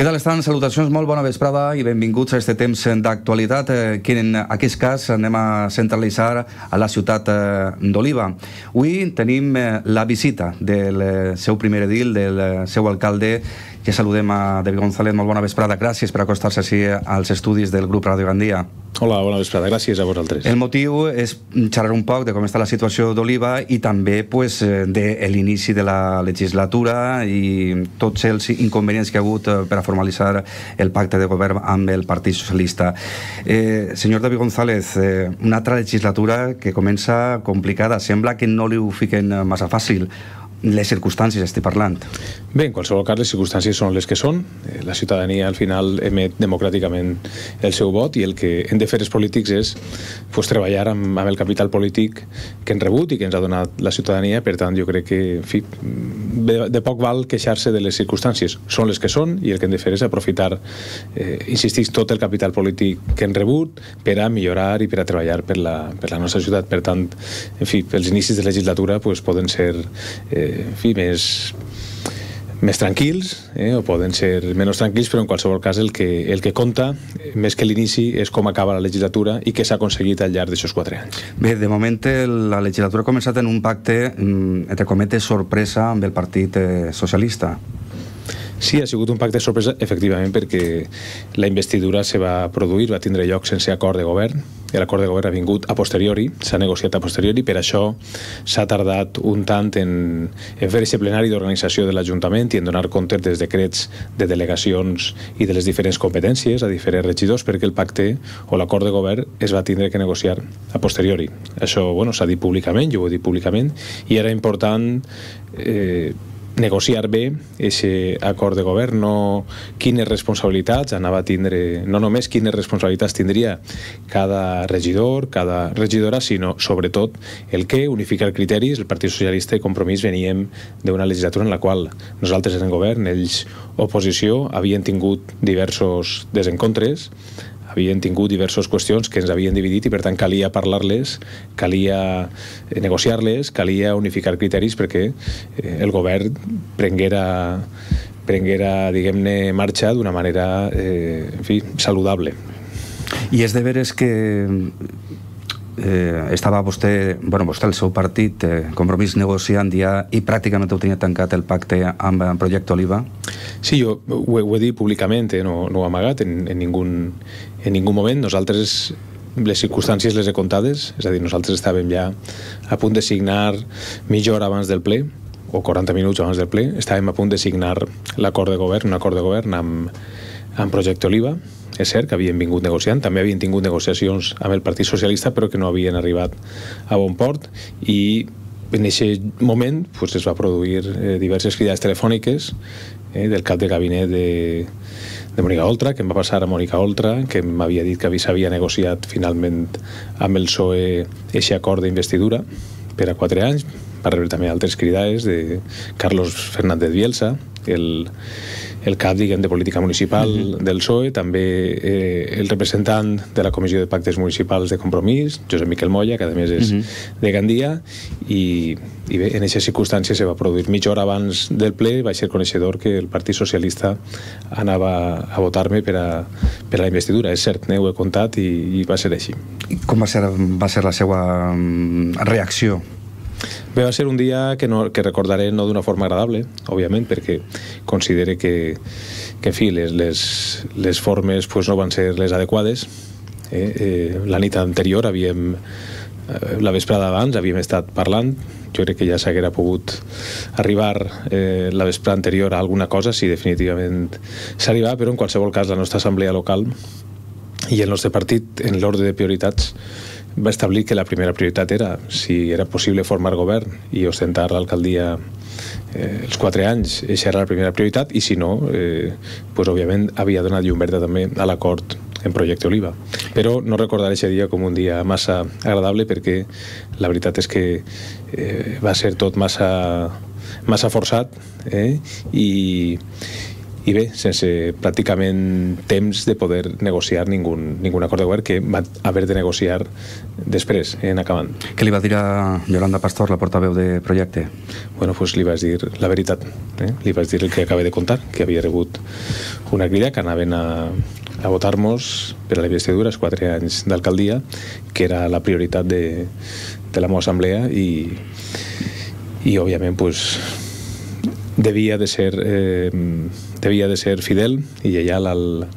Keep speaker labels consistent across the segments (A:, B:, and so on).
A: Què tal estan? Salutacions, molt bona vesprada i benvinguts a aquest temps d'actualitat que en aquest cas anem a centralitzar a la ciutat d'Oliva. Avui tenim la visita del seu primer edil, del seu alcalde. Ja saludem a David González, molt bona vesprada. Gràcies per acostar-se així als estudis del grup Ràdio Gandia.
B: Hola, bona vesprada, gràcies a vosaltres.
A: El motiu és xerrar un poc de com està la situació d'Oliva i també de l'inici de la legislatura i tots els inconvenients que ha hagut per a formalitzar el pacte de govern amb el Partit Socialista. Senyor David González, una altra legislatura que comença complicada. Sembla que no li ho fiquen massa fàcil. Les circumstàncies estic parlant.
B: Bé, en qualsevol cas, les circumstàncies són les que són. La ciutadania al final emet democràticament el seu vot i el que hem de fer els polítics és treballar amb el capital polític que hem rebut i que ens ha donat la ciutadania. Per tant, jo crec que de poc val queixar-se de les circumstàncies. Són les que són i el que hem de fer és aprofitar, insistir, tot el capital polític que hem rebut per a millorar i per a treballar per la nostra ciutat. Per tant, els inicis de legislatura poden ser més tranquils o poden ser menys tranquils, però en qualsevol cas el que compta més que l'inici és com acaba la legislatura i què s'ha aconseguit al llarg d'aquests 4 anys.
A: Bé, de moment la legislatura ha començat en un pacte entre cometes sorpresa amb el Partit Socialista.
B: Sí, ha sigut un pacte sorpresa, efectivament, perquè la investidura se va produir, va tindre lloc sense acord de govern. L'acord de govern ha vingut a posteriori, s'ha negociat a posteriori, per això s'ha tardat un tant en fer aquest plenari d'organització de l'Ajuntament i en donar compte dels decrets de delegacions i de les diferents competències a diferents regidors, perquè el pacte o l'acord de govern es va tindre que negociar a posteriori. Això s'ha dit públicament, jo ho he dit públicament, i era important negociar bé aquest acord de govern, no quines responsabilitats anava a tindre, no només quines responsabilitats tindria cada regidor, cada regidora, sinó sobretot el què, unificar criteris. El Partit Socialista i Compromís veníem d'una legislatura en la qual nosaltres en govern, ells oposició, havien tingut diversos desencontres, havien tingut diverses qüestions que ens havien dividit i per tant calia parlar-les, calia negociar-les, calia unificar criteris perquè el govern prenguera diguem-ne, marxa d'una manera saludable.
A: I és de veres que estava vostè, el seu partit, Compromís, negociant ja i pràcticament ho tenia tancat el pacte amb el projecte Oliva?
B: Sí, jo ho he dit públicament, no ho he amagat en ningú moment. Nosaltres les circumstàncies les he comptades, és a dir, nosaltres estàvem ja a punt de signar mitja hora abans del ple o 40 minuts abans del ple, estàvem a punt de signar l'acord de govern, un acord de govern amb projecte Oliva. És cert que havien vingut negociant, també havien tingut negociacions amb el Partit Socialista, però que no havien arribat a bon port, i en aquest moment es va produir diverses cridades telefòniques del cap de gabinet de Mònica Oltra, que em va passar a Mònica Oltra, que m'havia dit que s'havia negociat finalment amb el PSOE aquest acord d'investidura per a 4 anys. Va rebre també altres cridades de Carlos Fernández Bielsa, el cap, diguem, de política municipal del PSOE, també el representant de la Comissió de Pactes Municipals de Compromís, Josep Miquel Moya, que a més és de Gandia, i bé, en aquestes circumstàncies se va produir mitja hora abans del ple. Vaig ser coneixedor que el Partit Socialista anava a votar-me per a la investidura. És cert, ho he comptat i va ser així.
A: Com va ser la seva reacció?
B: Bé, va ser un dia que recordaré no d'una forma agradable, òbviament, perquè considere que en fi, les formes no van ser les adequades. La nit anterior, la vesprada abans, havíem estat parlant. Jo crec que ja s'haguera pogut arribar la vesprada anterior a alguna cosa, si definitivament s'arribava, però en qualsevol cas la nostra assemblea local i el nostre partit, en l'ordre de prioritats, va establir que la primera prioritat era, si era possible, formar govern i ostentar l'alcaldia els 4 anys. Aquesta era la primera prioritat, i si no, òbviament havia donat llum verda també a l'acord en projecte Oliva. Però no recordaré aquest dia com un dia massa agradable, perquè la veritat és que va ser tot massa forçat, i i bé, sense pràcticament temps de poder negociar ningun acord de govern, que va haver de negociar després, en acabant.
A: Què li va dir a Yolanda Pastor, la portaveu de projecte?
B: Bueno, pues li vaig dir la veritat. Li vaig dir el que acaba de contar, que havia rebut una crida, que anaven a votar-nos per a la investidura, els 4 anys d'alcaldia, que era la prioritat de la meva assemblea, i òbviament pues, devia de ser fidel i lleial al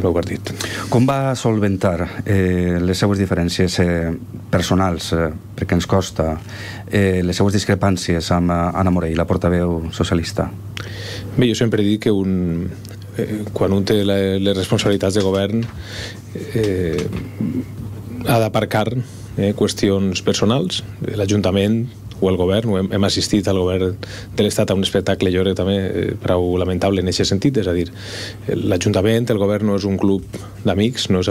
B: meu partit.
A: Com va solventar les seues diferències personals, perquè ens costa, les seues discrepàncies amb Anna Morell, la portaveu socialista?
B: Bé, jo sempre he dit que quan un té les responsabilitats de govern ha d'aparcar qüestions personals. L'Ajuntament o el govern, hem assistit al govern de l'Estat a un espectacle, jo crec també prou lamentable en aquest sentit, és a dir, l'Ajuntament, el govern no és un club d'amics, no és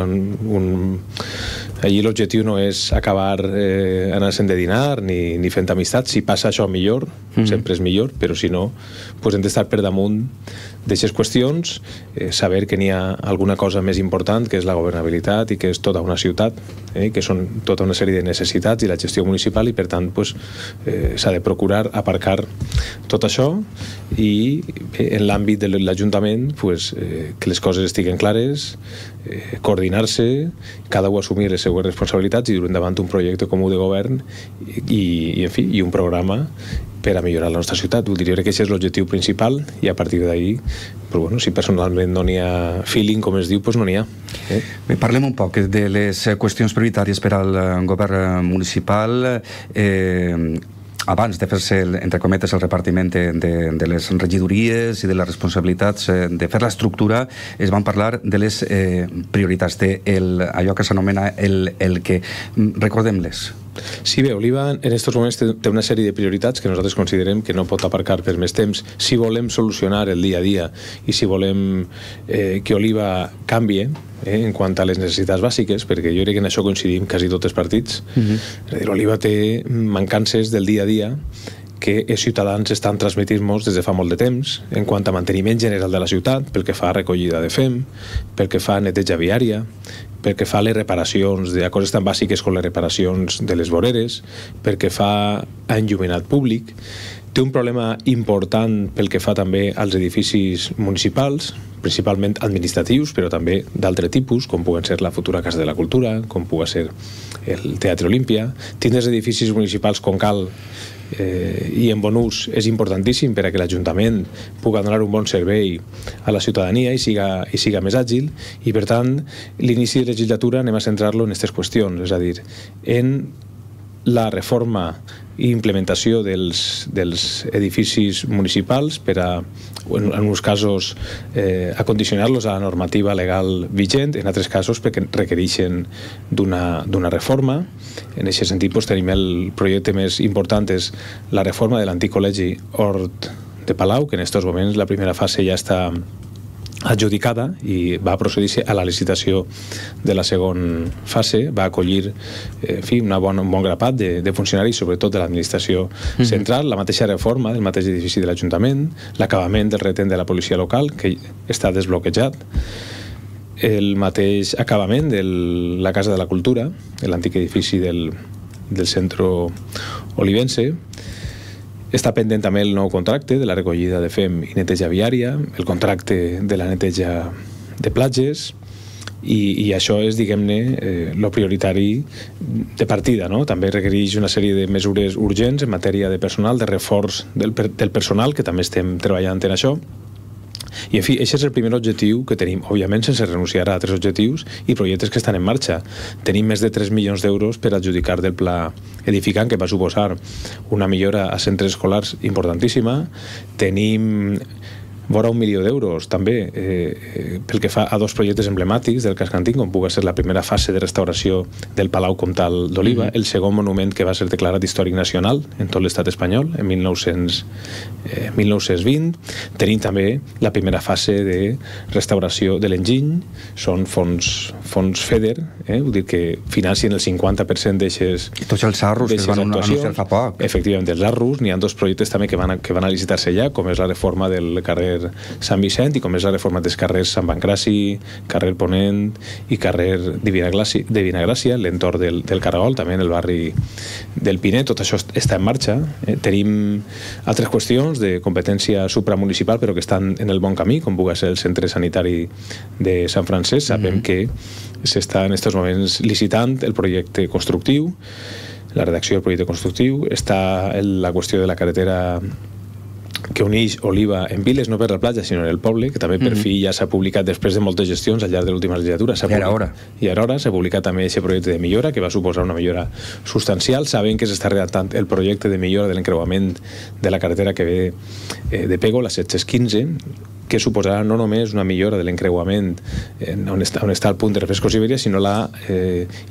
B: allí l'objectiu no és acabar anar-se'n de dinar ni fent amistats. Si passa això millor, sempre és millor, però si no, doncs hem d'estar per damunt d'aquestes qüestions, saber que n'hi ha alguna cosa més important, que és la governabilitat i que és tota una ciutat, que són tota una sèrie de necessitats i la gestió municipal, i per tant s'ha de procurar aparcar tot això, i en l'àmbit de l'Ajuntament que les coses estiguen clares, coordinar-se, cada un assumir les seues responsabilitats i dur endavant un projecte comú de govern i un programa per a millorar la nostra ciutat. Diria que aquest és l'objectiu principal, i a partir d'ahir, si personalment no n'hi ha feeling, com es diu, doncs no n'hi ha.
A: Parlem un poc de les qüestions prioritàries per al govern municipal. Abans de fer-se, entre cometes, el repartiment de les regidories i de les responsabilitats de fer l'estructura, es van parlar de les prioritats, d'allò que s'anomena el que. Recordem-les.
B: Sí, bé, Oliva en aquests moments té una sèrie de prioritats que nosaltres considerem que no pot aparcar per més temps si volem solucionar el dia a dia i si volem que Oliva canvie en quant a les necessitats bàsiques, perquè jo crec que en això coincidim quasi tots els partits. És a dir, Oliva té mancances del dia a dia que els ciutadans estan transmetent-nos des de fa molt de temps en quant a manteniment general de la ciutat, pel que fa a recollida de fem, pel que fa a neteja viària, pel que fa a les reparacions de coses tan bàsiques com les reparacions de les voreres, pel que fa a enllumenat públic. Té un problema important pel que fa també als edificis municipals, principalment administratius, però també d'altre tipus, com puguen ser la futura Casa de la Cultura, com pugui ser el Teatre Olímpia. Tindre els edificis municipals com cal i en bon ús és importantíssim per a que l'Ajuntament pugui donar un bon servei a la ciutadania i siga més àgil, i per tant l'inici de legislatura anem a centrar-lo en aquestes qüestions, és a dir, en la reforma i implementació dels edificis municipals per a, en uns casos, acondicionar-los a la normativa legal vigent, en altres casos perquè requereixen d'una reforma. En aquest sentit tenim el projecte més important, és la reforma de l'antic col·legi Hort de Palau, que en aquests moments la primera fase ja està adjudicada i va procedir-se a la licitació de la segona fase. Va acollir un bon grapat de funcionaris, sobretot de l'administració central, la mateixa reforma del mateix edifici de l'Ajuntament, l'acabament del retén de la policia local, que està desbloquejat, el mateix acabament de la Casa de la Cultura, l'antic edifici del centre olivense. Està pendent també el nou contracte de la recollida de fem i neteja viària, el contracte de la neteja de platges, i això és, diguem-ne, el prioritari de partida, no? També requereix una sèrie de mesures urgents en matèria de personal, de reforç del personal, que també estem treballant en això. I, en fi, aquest és el primer objectiu que tenim, òbviament sense renunciar a altres objectius i projectes que estan en marxa. Tenim més de 3 milions d'euros per adjudicar del pla edificant, que va suposar una millora a centres escolars importantíssima. Tenim vora 1 milió d'euros també pel que fa a 2 projectes emblemàtics del casc antic, com pugui ser la primera fase de restauració del Palau Comtal d'Oliva, el segon monument que va ser declarat històric nacional en tot l'estat espanyol en 1920. Tenim també la primera fase de restauració de l'enginy, són fons FEDER, vull dir que financien el 50% d'aixes.
A: I tots els arros que es van anunciar fa poc.
B: Efectivament, els arros, n'hi ha 2 projectes també que van a licitar-se ja, com és la reforma del carrer carrer Sant Vicent, i com és la reforma dels carrers Sant Pancraci, carrer Ponent i carrer Divina Gràcia, l'entorn del Caragol, també en el barri del Pinet. Tot això està en marxa. Tenim altres qüestions de competència supramunicipal, però que estan en el bon camí, com pugui ser el centre sanitari de Sant Francesc. Sabem que s'està en aquests moments licitant el projecte constructiu, la redacció del projecte constructiu. Està la qüestió de la carretera que uneix Oliva en Viles, no per la platja, sinó en el poble, que també per fi ja s'ha publicat després de moltes gestions al llarg de l'última legislatura. I ara hora s'ha publicat també aquest projecte de millora, que va suposar una millora substancial. Sabem que s'està redactant el projecte de millora de l'encreuament de la carretera que ve de Pego, la 715, que suposarà no només una millora de l'encreuament on està el punt de Refrescos Ibèria, sinó la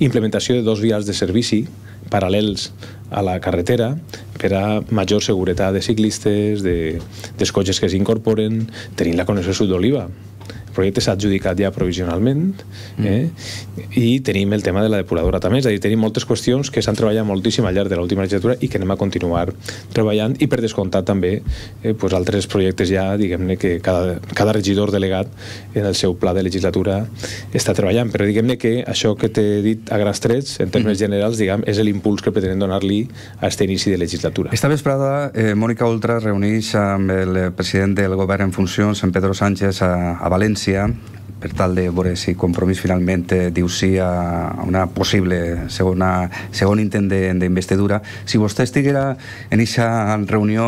B: implementació de 2 vials de servici paral·lels a la carretera per a major seguretat de ciclistes, dels cotxes que s'incorporen, tenint la connexió sud d'Oliva. El projecte s'ha adjudicat ja provisionalment, i tenim el tema de la depuradora també. És a dir, tenim moltes qüestions que s'han treballat moltíssim al llarg de l'última legislatura i que anem a continuar treballant, i per descomptat també altres projectes ja, diguem-ne, que cada regidor delegat en el seu pla de legislatura està treballant. Però diguem-ne que això que t'he dit a grans trets, en termes generals, diguem, és l'impuls que pretenem donar-li a aquest inici de legislatura.
A: Esta vesprada, Mònica Oltra reuneix amb el president del govern en funcions, en Pedro Sánchez, a València, per tal de veure si Compromís finalment diu sí a una possible segon intent d'investidura. Si vostè estiguera en aquesta reunió,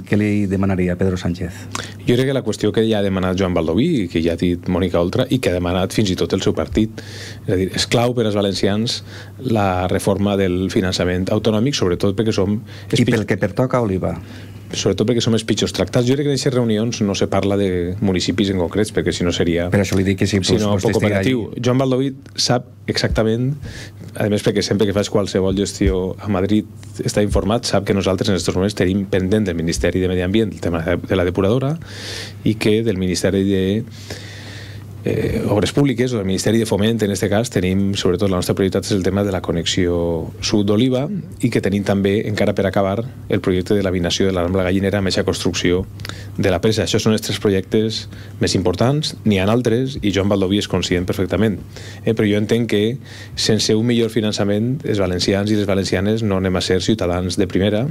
A: què li demanaria a Pedro Sánchez?
B: Jo crec que la qüestió que ja ha demanat Joan Baldoví, que ja ha dit Mònica Oltra, i que ha demanat fins i tot el seu partit, és a dir, és clau per als valencians la reforma del finançament autonòmic, sobretot perquè som...
A: I pel que pertoca a Oliva.
B: Sobretot perquè som els pitjors tractats. Jo crec que en aquestes reunions no se parla de municipis en concrets, perquè si no seria...
A: Per això li dic que sí,
B: sinó poc operatiu. Joan Baldoví sap exactament, a més perquè sempre que faig qualsevol gestió a Madrid està informat, sap que nosaltres en aquests moments tenim pendent del Ministeri de Medi Ambient el tema de la depuradora, i que del Ministeri de Obres Públiques o del Ministeri de Foment, en aquest cas, tenim, sobretot, la nostra prioritat és el tema de la connexió sud d'Oliva, i que tenim també, encara per acabar, el projecte de l'abinació de la Rambla Gallinera amb aquesta construcció de la presa. Això són els 3 projectes més importants, n'hi ha altres, i Joan Baldoví és conscient perfectament. Però jo entenc que, sense un millor finançament, els valencians i les valencianes no anem a ser ciutadans de primera,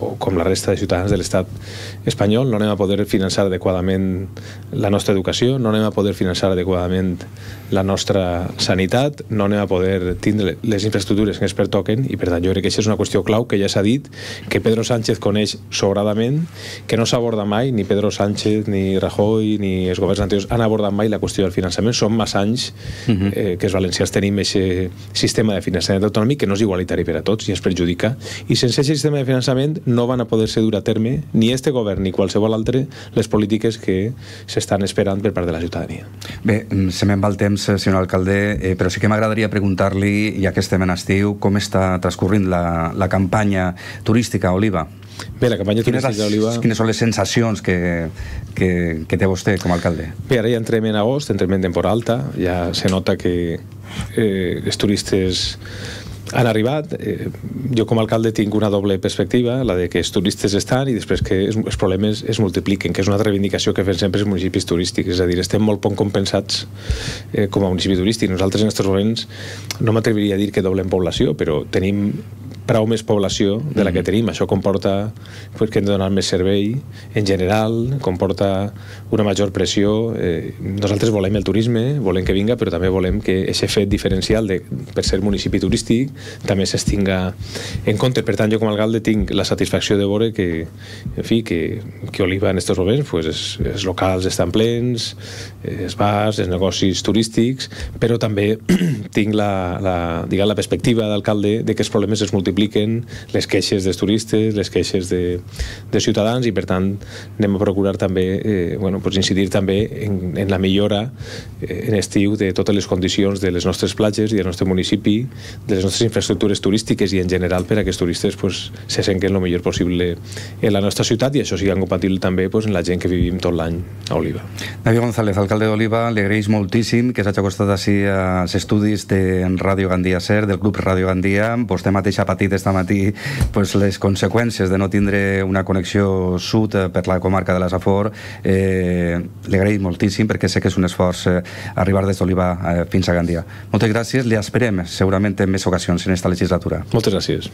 B: o com la resta de ciutadans de l'estat espanyol, no anem a poder finançar adequadament la nostra educació, no anem a poder finançar adequadament la nostra sanitat, no anem a poder tindre les infraestructures que ens pertoquen, i per tant jo crec que això és una qüestió clau que ja s'ha dit, que Pedro Sánchez coneix sobradament, que no s'aborda mai, ni Pedro Sánchez, ni Rajoy, ni els governs anteriors han abordat mai la qüestió del finançament. Són massa anys que els valencians tenim aquest sistema de finançament autonòmic que no és igualitari per a tots i ens perjudica, i sense aquest sistema de finançament no van a poder-se dur a terme ni este govern ni qualsevol altre les polítiques que s'estan esperant per part de la ciutadania.
A: Bé, se me'n va el temps, senyor alcalde, però sí que m'agradaria preguntar-li, ja que estem en estiu, com està transcorrint la campanya turística a Oliva?
B: Bé, la campanya turística d'Oliva...
A: Quines són les sensacions que té vostè com a alcalde?
B: Bé, ara ja entrem en agost, entrem en temporada alta, ja se nota que els turistes han arribat. Jo com a alcalde tinc una doble perspectiva, la de que els turistes estan i després que els problemes es multipliquen, que és una altra reivindicació que fem sempre els municipis turístics. És a dir, estem molt poc compensats com a municipi turístic. Nosaltres en aquests moments no m'atreviria a dir que doblem població, però tenim prou més població de la que tenim. Això comporta que hem de donar més servei en general, comporta una major pressió. Nosaltres volem el turisme, volem que vinga, però també volem que aquest fet diferencial per ser municipi turístic també s'estinga en compte. Per tant, jo com a alcalde tinc la satisfacció de veure que Oliva en aquests moments els locals estan plens, els bars, els negocis turístics, però també tinc la perspectiva d'alcalde de que els problemes es multipliquen, les queixes dels turistes, les queixes de ciutadans, i per tant anem a procurar també incidir també en la millora en estiu de totes les condicions de les nostres platges i del nostre municipi, de les nostres infraestructures turístiques i en general per a que els turistes se senten el millor possible en la nostra ciutat, i això sigui compatible també en la gent que vivim tot l'any a Oliva.
A: David González, alcalde d'Oliva, li agraeix moltíssim que s'hagi acostat així als estudis de Ràdio Gandia Ser, del Club Ràdio Gandia. Vostè mateix ha patit sentit esta matí les conseqüències de no tindre una connexió sud per la comarca de la Safor. Li agraïm moltíssim perquè sé que és un esforç arribar des d'Oliva fins a Gandia. Moltes gràcies, li esperem segurament en més ocasions en esta legislatura.
B: Moltes gràcies.